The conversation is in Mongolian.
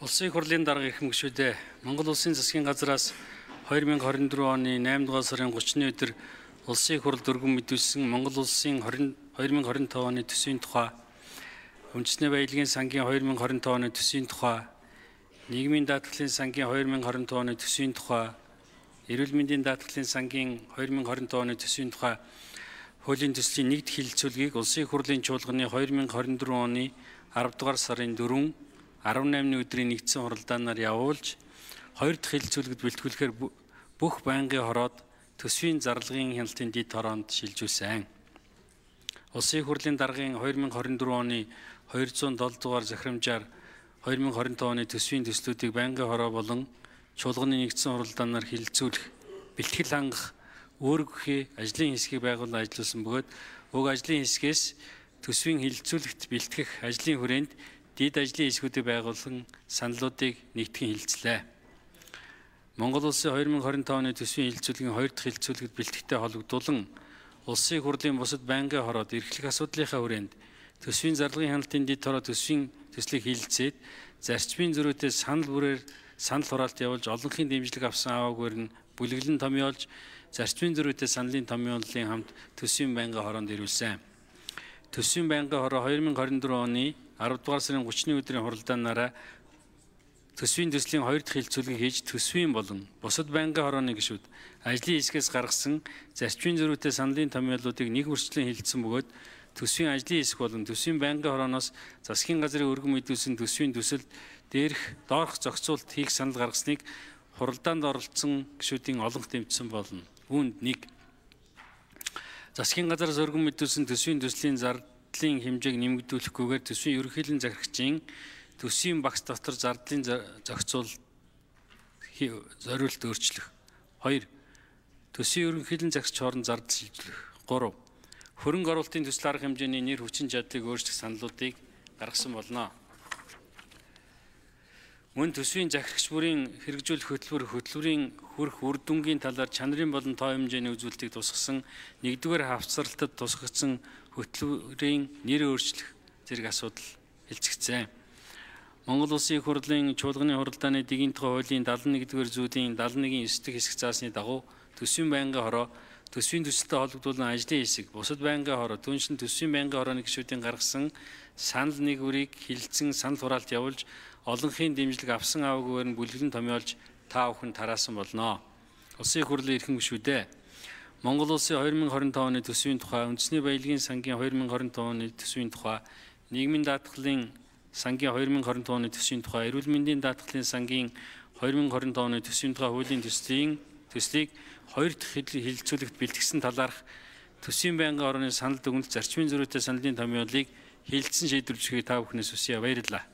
Улсын их хурлын дарга их мөшүүдээ Монгол Улсын засгийн газраас 2024 оны 8 дугаар сарын 30-ны өдөр Улсын их хурл дөрвөн мэдүүлсэн Монгол Улсын 2025 оны төсвийн тухай, Үндэсний баялагын сангийн 2025 оны төсвийн тухай, нийгмийн даатгалын сангийн 2025 оны төсвийн тухай, эрүүл мэндийн даатгалын сангийн 2025 оны төсвийн тухай хуулийн төслийн нэгд хэлэлцүүлгийг Улсын их хурлын чуулганы 2024 оны 10 дугаар сарын 4 18-ны өдрийн нэгдсэн хуралдаанаар явуулж, 2 дахь хэлэлцүүлэгт бэлтгүүлэхээр бүх байнгын хороод төсвийн зарлагын хяналтын дэд хороонд шилжүүлсэн. Улсын их хурлын даргын 2024 оны 207 дугаар захирамжаар 2025 оны төсвийн төслүүдийг байнгын хороо болон чуулганы нэгдсэн хуралдаанаар хэлэлцүүлэх, бэлтгэл хангах, өөрөөхий ажлын хэсгийг байгуулан ажиллуулсан бөгөөд уг ажлын хэсгээс төсвийн хэлэлцүүлэгт бэлтгэх ажлын хүрээнд дэд ажлын хэсгүүдийг байгуулсан саналуудыг нэгтгэн хэлэлцлээ. Монгол Улсын 2025 оны төсвийн хэлэлцүүлгийн 2 дахь хэлэлцүүлэгт бэлтгэхтэй холбогдуулан Улсын их хурлын бусад байнгын хороод эрхлэх асуудлынхаа хүрээнд төсвийн зарлагын хяналтын дэд хороо төсвийн төслийг хэлэлцээд зарчмын зөрүүтэй санал бүрээр санал хураалт явуулж олонхын дэмжлэг авсан аваагаар нь бүлэглэн томьёолж зарчмын зөрүүтэй саналын томьёоллын хамт төсвийн байнгын хороонд ирүүлсэн. Төсвийн байнгын хороо 2024 оны 10 дугаар сарын 30-ны өдрийн хуралдаанаараа төсвийн төслийн 2 дахь хэлэлцүүлгийг хийж төсвийн болон бусад байнгын хорооны гишүүд ажлын хэсгээс гаргасан зарчмын зөрүүтэй саналын томьёолуудыг нэг үрчлэн хэлэлцсэн бөгөөд төсвийн ажлын хэсэг болон төсвийн байнгын хорооноос засгийн газрын өргөн мэдүүлсэн төсвийн төсөлд доорх зохицуулт хийх санал гаргасныг хуралдаанд оролцсон гишүүдийн олонх дэмжсэн болно. Үүнд 1. Засгийн газраас өргөн мэдүүлсэн төсвийн төслийн зардлын хэмжээг нэмэгдүүлэхгүйгээр төсвийн ерөнхийлөн захирагчийн төсвийн багц дотор зардлын зохицуулт зориулт өөрчлөх. 2. Төсвийн ерөнхийлөн захирагч хооронд зардал шилжүүлэх. 3. Хөрөнгө оруулалтын төсөл арга хэмжээний нэр хүчин чадлыг өөрчлөх саналуудыг гаргасан болно. Мөн төсвийн захирагч бүрийн хэрэгжүүлэх хөтөлбөрийн хүрэх үр дүнгийн талаар чанарын болон тоо хэмжээний үзүүлэлтийг тусгасан 1-р хавцралтад тусгагдсан хөтөлбөрийн нэр өөрчлөх зэрэг асуудал хэлцэгдсэн. Монгол Улсын их хурлын чуулганы хуралдааны дэгийн тухай хуулийн 71-р зүйлийн 71-9 хэсэг заасны дагуу төсвийн байнгын хороо, төсвийн төсөлтэй холбогдуулан ажлын хэсэг, бусад байнгын хороо, түүнчлэн төсвийн байнгын хорооны гишүүдийн гаргасан санал нэгүрийг хэлэлцэн санал хураалт явуулж олонхын дэмжлэг авсан аваагаар нь бүлэглэн томьёолж та бүхэн тараасан болно. Улсын их хурлын эрхэм гишүүдээ Монгол Улсын 2025 оны төсвийн тухай, Үндэсний баялагын сангийн 2025 оны төсвийн тухай, нийгмийн даатгалын сангийн 2025 оны төсвийн тухай, эрүүл мэндийн даатгалын сангийн 2025 оны төсвийн тухай хуулийн төслийг 2 дахь хэлэлцүүлэгт бэлтгэсэн талаарх төсвийн байнгын хорооны санал дүгнэлт зарчмын зөрүүтэй саналын томьёолыг хэлэлцэн шийдвэрлэхийг та бүхнээс хүсье. Баярлалаа.